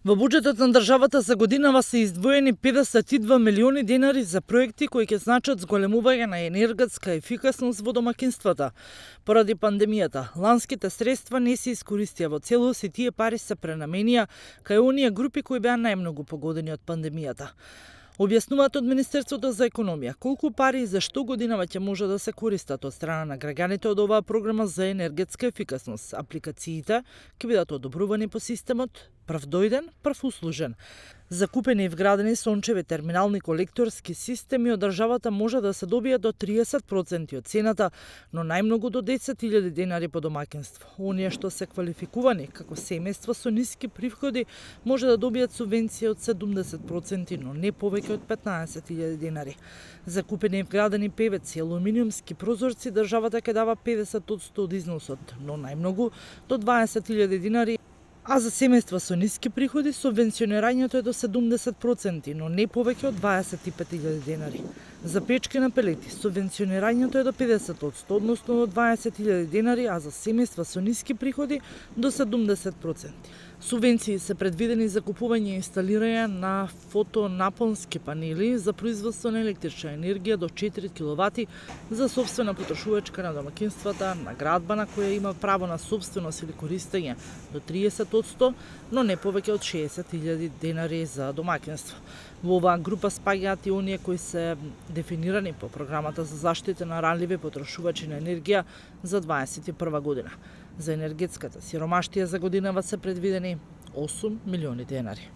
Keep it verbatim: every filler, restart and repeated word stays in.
Во буџетот на државата за годинава се издвоени педесет и два милиони денари за проекти кои ќе значат зголемување на енергетска ефикасност во домакинствата. Поради пандемијата, ланските средства не се искористија во целост и тие пари се пренаменија кај оние групи кои беа најмногу погодени од пандемијата. Објаснуваат од Министерството за економија колку пари и за што годинава ќе може да се користат од страна на граѓаните од оваа програма за енергетска ефикасност. Апликациите ќе бидат одобрувани по системот прв дојден, прв услужен. Закупени и вградени сончеви терминални колекторски системи од државата може да се добијат до триесет проценти од цената, но најмногу до десет илјади денари по домаќинство. Оние што се квалификувани како семејства со ниски приходи може да добијат субвенција од седумдесет проценти, но не повеќе од петнаесет илјади денари. Закупени и вградени певеци и алуминиумски прозорци државата ќе дава педесет одсто од износот, но најмногу до дваесет илјади денари. А за семејства со ниски приходи субвенционирањето е до седумдесет проценти, но не повеќе од дваесет и пет илјади денари. За печки на пелети субвенционирањето е до педесет одсто, односно до дваесет илјади денари, а за семејства со ниски приходи до седумдесет проценти. Субвенции се предвидени за купување и инсталирање на фотонапонски панели за производство на електрична енергија до четири киловати за сопствена потрошувачка на домаќинствата, на градба на која има право на сопственост или користење до триесет одсто, но не повеќе од шеесет илјади денари за домаќинство. Во оваа група спаѓаат и оние кои се дефинирани по програмата за заштита на ранливи потрошувачи на енергија за дваесет и прва година. За енергетската сиромаштија за годинава се предвидени осум милиони денари.